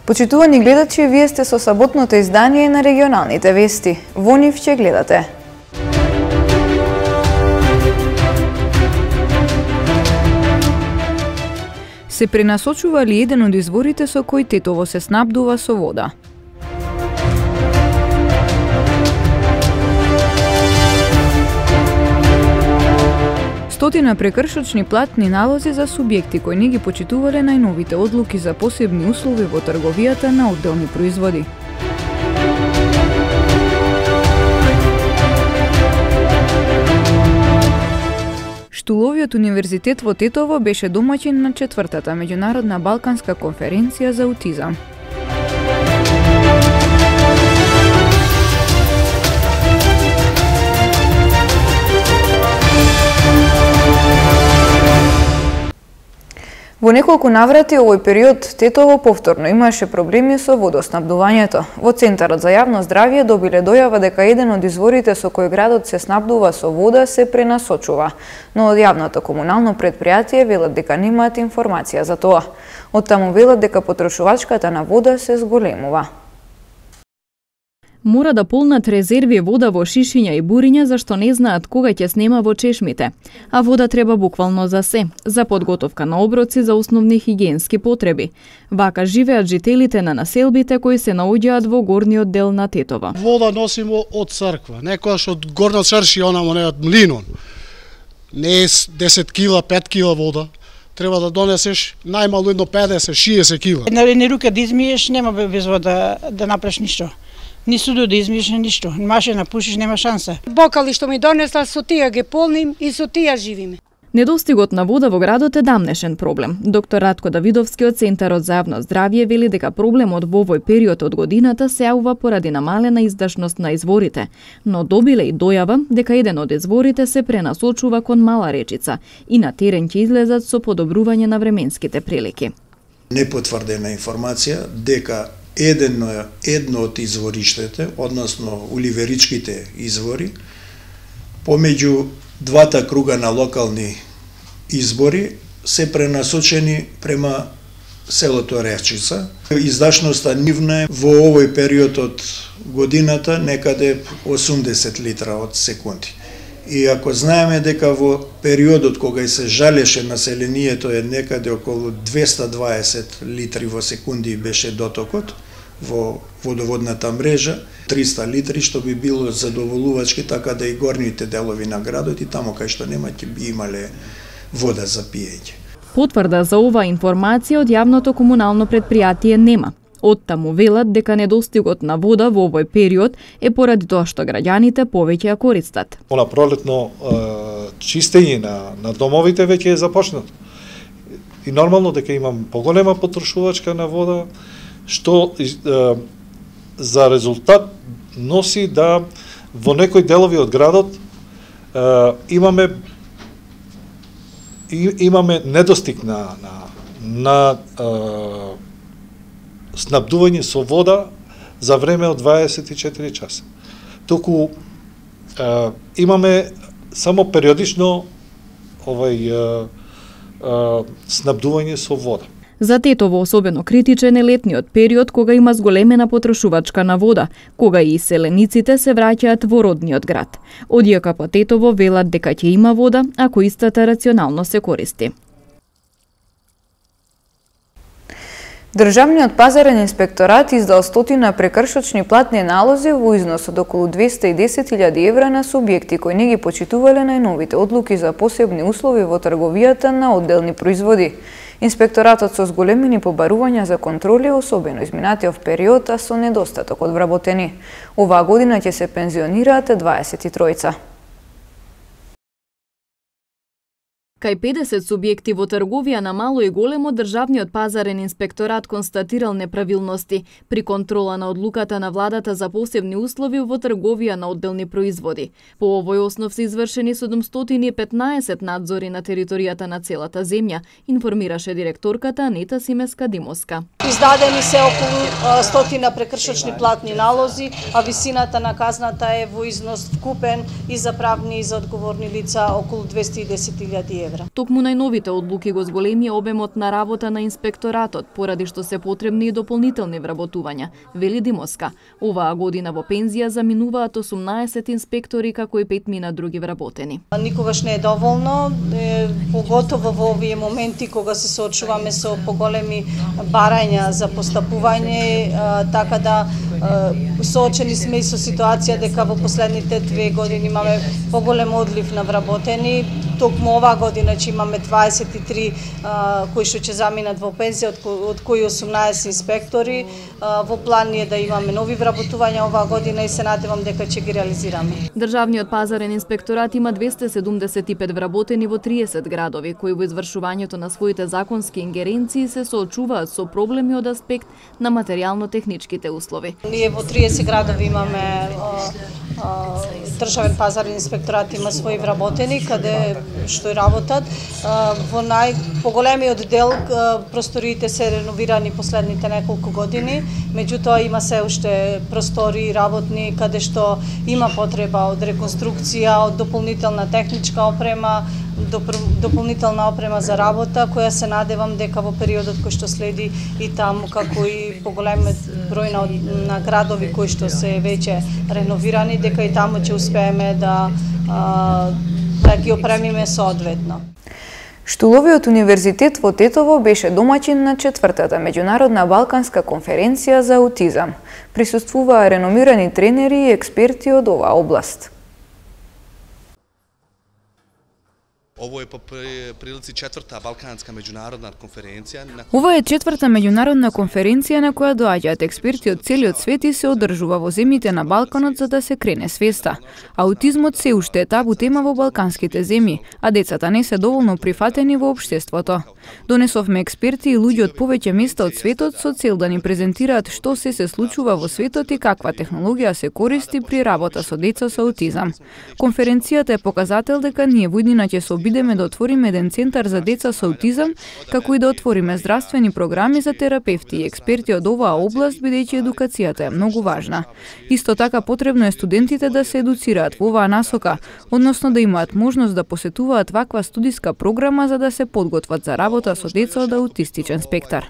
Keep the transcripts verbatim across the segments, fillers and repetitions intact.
Почитувани гледачи, вие сте со саботното издание на регионалните вести. Во нив ќе гледате. Се пренасочува ли еден од изворите со кој Тетово се снабдува со вода? Стотина прекршочни платни налози за субјекти кои не ги почитувале најновите одлуки за посебни услови во трговијата на одделни производи. Штуловиот универзитет во Тетово беше домаќин на четвртата меѓународна балканска конференција за аутизам. Во неколку наврати овој период Тетово повторно имаше проблеми со водоснабдувањето. Во Центарот за јавно здравје добиле дојава дека еден од изворите со кој градот се снабдува со вода се пренасочува, но од јавното комунално предпријатие велат дека немаат информација за тоа. Оттаму велат дека потрошувачката на вода се зголемува. Мора да полнат резерви вода во шишиња и буриња зашто не знаат кога ќе снема во чешмите, а вода треба буквално за се, за подготовка на оброци за основни хигиенски потреби. Вака живеат жителите на населбите кои се наоѓаат во горниот дел на Тетово. Вода носимо од црква, некојаш од горна црши она моне од млинон. Не е десет кила, пет кила вода. Треба да донесеш најмалу едно педесет, шеесет кила. На едни рука да измиеш, нема без вода да направиш ништо. Ни суду да измиеш ништо. Машина пушиш, нема шанса. Бокали што ми донесла, со тие ги полним и со тие живиме. Недостигот на вода во градот е дамнешен проблем. Доктор Ратко Давидовски од Центарот за јавно здравје вели дека проблемот во овој период од годината се јавува поради намалена издашност на изворите, но добиле и дојава дека еден од изворите се пренасочува кон Мала Речица и на терен ќе излезат со подобрување на временските прилики. Непотврдена информација дека едно, едно од извориштите, односно уливеричките извори, помеѓу двата круга на локални избори се пренасочени према селото Речица. Издашноста нивна е во овој период од годината некаде осумдесет литра од секунди. И ако знаеме дека во периодот кога се жалеше населението е некаде околу двеста дваесет литри во секунди беше дотокот во водоводната мрежа, триста литри, што би било задоволувачки, така да и горните делови на градот и таму кај што нема ќе би имале вода за пиење. Потврда за оваа информација од јавното комунално предпријатие нема. Оттаму велат дека недостигот на вода во овој период е поради тоа што граѓаните повеќе ја користат. Она пролетно е, чистење на, на домовите веќе е започнато. И нормално дека имам поголема потрошувачка на вода, што е, за резултат носи да во некои делови од градот е, имаме и, имаме недостиг на на, на е, снабдување со вода за време од дваесет и четири часа. Току е, имаме само периодично овај е, е, снабдување со вода. За Тетово особено критичен е летниот период кога има зголемена потрошувачка на вода, кога и селениците се враќаат во родниот град. Од ЈКП Тетово велат дека ќе има вода ако истата рационално се користи. Државниот пазарен инспекторат издал стотина прекршочни платни налози во износ од околу двеста и десет илјади евра на субјекти кои не ги почитувале најновите одлуки за посебни услови во трговијата на одделни производи. Инспекторатот со зголемени побарувања за контроли, особено изминатиот период, а со недостаток од вработени. Оваа година ќе се пензионираат дваесет и тројца. Кај педесет субјекти во трговија на мало и големо, државниот пазарен инспекторат констатирал неправилности при контрола на одлуката на владата за посебни услови во трговија на одделни производи. По овој основ се извршени седумстотини и петнаесет надзори на територијата на целата земја, информираше директорката Анета Симеска-Димовска. Издадени се околу стотина прекршочни платни налози, а висината на казната е во износ вкупен и за правни и за одговорни лица околу двеста и десет илјади евра. евра. Токму најновите одлуки го зголемија обемот на работа на инспекторатот, поради што се потребни и дополнителни вработувања, вели Димоска. Оваа година во пензија заминуваат осумнаесет инспектори, како и петмина други вработени. Никогаш не е доволно, е, поготово во овие моменти кога се соочуваме со поголеми барања за постапување, е, така да е, соочени сме и со ситуација дека во последните две години имаме поголем одлив на вработени. Токму оваа година ќе имаме дваесет и три а, кои што ќе заминат во пензија, од, кои, од кои осумнаесет инспектори. А, во план е да имаме нови вработувања оваа година и се надевам дека ќе ги реализираме. Државниот пазарен инспекторат има двесте седумдесет и пет вработени во триесет градови, кои во извршувањето на своите законски ингеренции се соочуваат со проблеми од аспект на материјално-техничките услови. Ние во триесет градови имаме а, а, државен пазарен инспекторат има своји вработени каде што и работат. Во најпоголемиот дел просториите се реновирани последните неколку години, меѓутоа има се уште простори работни каде што има потреба од реконструкција, од дополнителна техничка опрема, дополнителна опрема за работа, која се надевам дека во периодот кој што следи и таму, како и поголемиот број на, на градови кои што се веќе реновирани, дека и таму ќе успееме да а, да ги опремиме соодветно. Штуловиот универзитет во Тетово беше домаќин на четвртата меѓународна балканска конференција за аутизам. Присуствуваа реномирани тренери и експерти од оваа област. Ово е по прилици четврта балканска меѓународна конференција. Ова е четврта меѓународна конференција на која доаѓаат експерти од целиот свет и се одржува во земјите на Балканот за да се крене свеста. Аутизмот се уште е табу тема во балканските земји, а децата не се доволно прифатени во општеството. Донесовме експерти и луѓе од повеќе места од светот со цел да ни презентираат што се се случува во светот и каква технологија се користи при работа со деца со аутизам. Конференцијата е показател дека ние во иднина ќе се обидеме да отвориме еден центар за деца со аутизам, како и да отвориме здравствени програми за терапевти и експерти од оваа област, бидејќи едукацијата е многу важна. Исто така потребно е студентите да се едуцираат во оваа насока, односно да имаат можност да посетуваат ваква студиска програма за да се подготват за работа со деца од аутистичен спектар.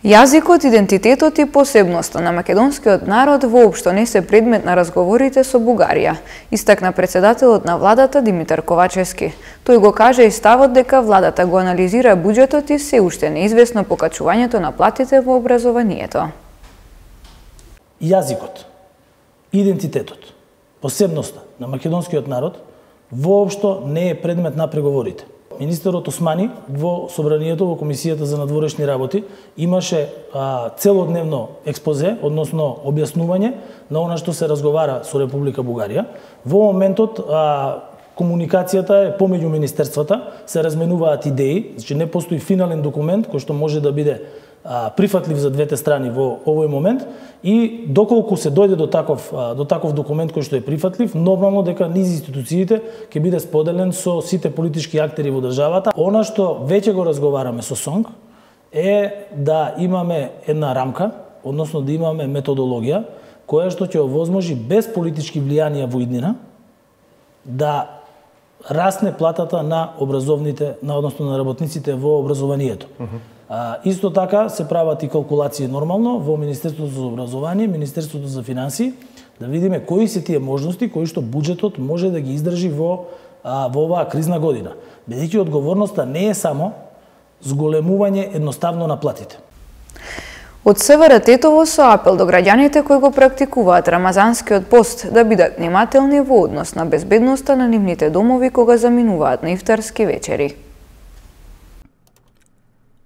Јазикот, идентитетот и посебноста на македонскиот народ воопшто не се предмет на разговорите со Бугарија, истакна председателот на владата Димитар Ковачевски. Тој го кажа и ставот дека владата го анализира буџетот и се уште неизвестно покачувањето на платите во образованието. Јазикот, идентитетот, посебноста на македонскиот народ воопшто не е предмет на преговорите. Министерот Османи во собранието во Комисијата за надворешни работи имаше а, целодневно експозе, односно објаснување на она што се разговара со Република Бугарија. Во моментот а, комуникацијата е помеѓу министерствата, се разменуваат идеи, значи не постои финален документ кој што може да биде а, прифатлив за двете страни во овој момент и доколку се дојде до таков а, до таков документ кој што е прифатлив, нормално дека низ институциите ќе биде споделен со сите политички актери во државата. Она што веќе го разговараме со СОНГ е да имаме една рамка, односно да имаме методологија која што ќе овозможи без политички влијанија во иднина да расне платата на образовните, на односно на работниците во образованието. Uh -huh. А, исто така се прават и калкулации нормално во Министерството за образование, Министерството за финансии, да видиме кои се тие можности кои што буџетот може да ги издржи во а, во оваа кризна година. Бидејќи одговорноста не е само зголемување едноставно на платите. Од СВР Тетово со апел до граѓаните кои го практикуваат рамазанскиот пост да бидат внимателни во однос на безбедноста на нивните домови кога заминуваат на ифтарски вечери.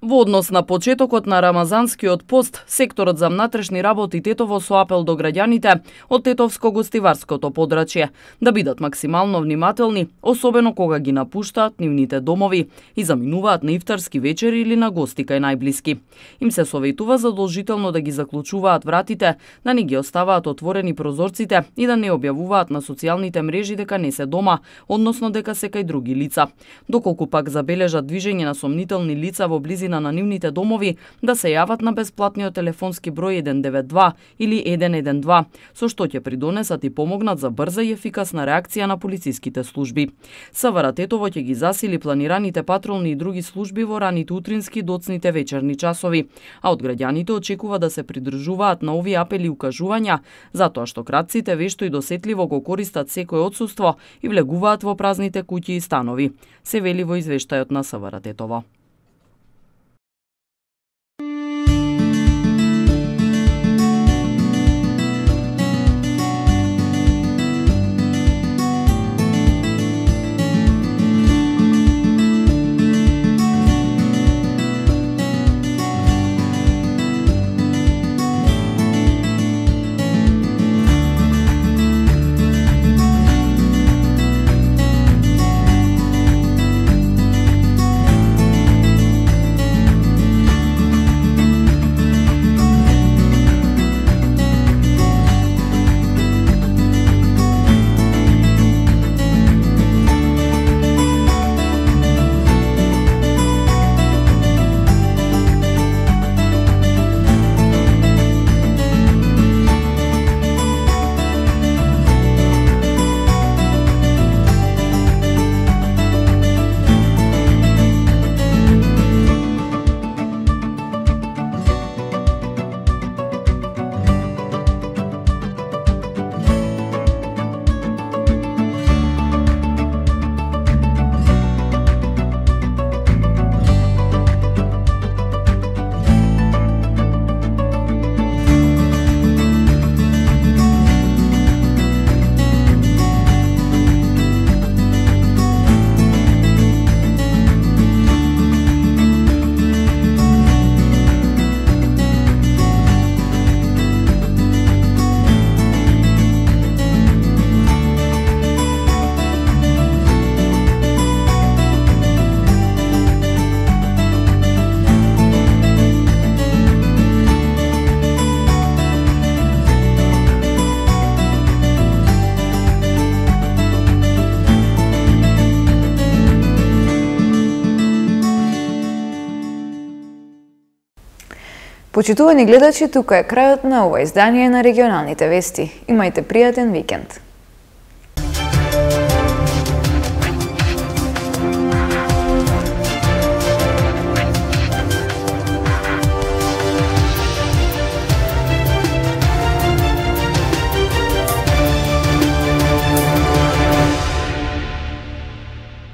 Во однос на почетокот на рамазанскиот пост, секторот за внатрешни работи Тетово со апел до граѓаните од Тетовско-гостиварското подрачје да бидат максимално внимателни, особено кога ги напуштаат нивните домови и заминуваат на ифтарски вечери или на гости кај најблиски. Им се советува задолжително да ги заклучуваат вратите, да не ги оставаат отворени прозорците и да не објавуваат на социјалните мрежи дека не се дома, односно дека се кај други лица. Доколку пак забележат движење на сомнителни лица во близина на анонимните домови да се јават на бесплатниот телефонски број еден девет два или еден еден два, со што ќе придонесат и помогнат за брза и ефикасна реакција на полициските служби. СВР Тетово ќе ги засили планираните патролни и други служби во раните утрински и доцните вечерни часови, а од граѓаните очекува да се придржуваат на овие апели и укажувања, затоа што кратците вешто и досетливо го користат секој отсуство и влегуваат во празните куќи и станови, се вели во извештајот на СВР Тетово. Почитувани гледачи, тука е крајот на ова издание на регионалните вести. Имајте пријатен викенд.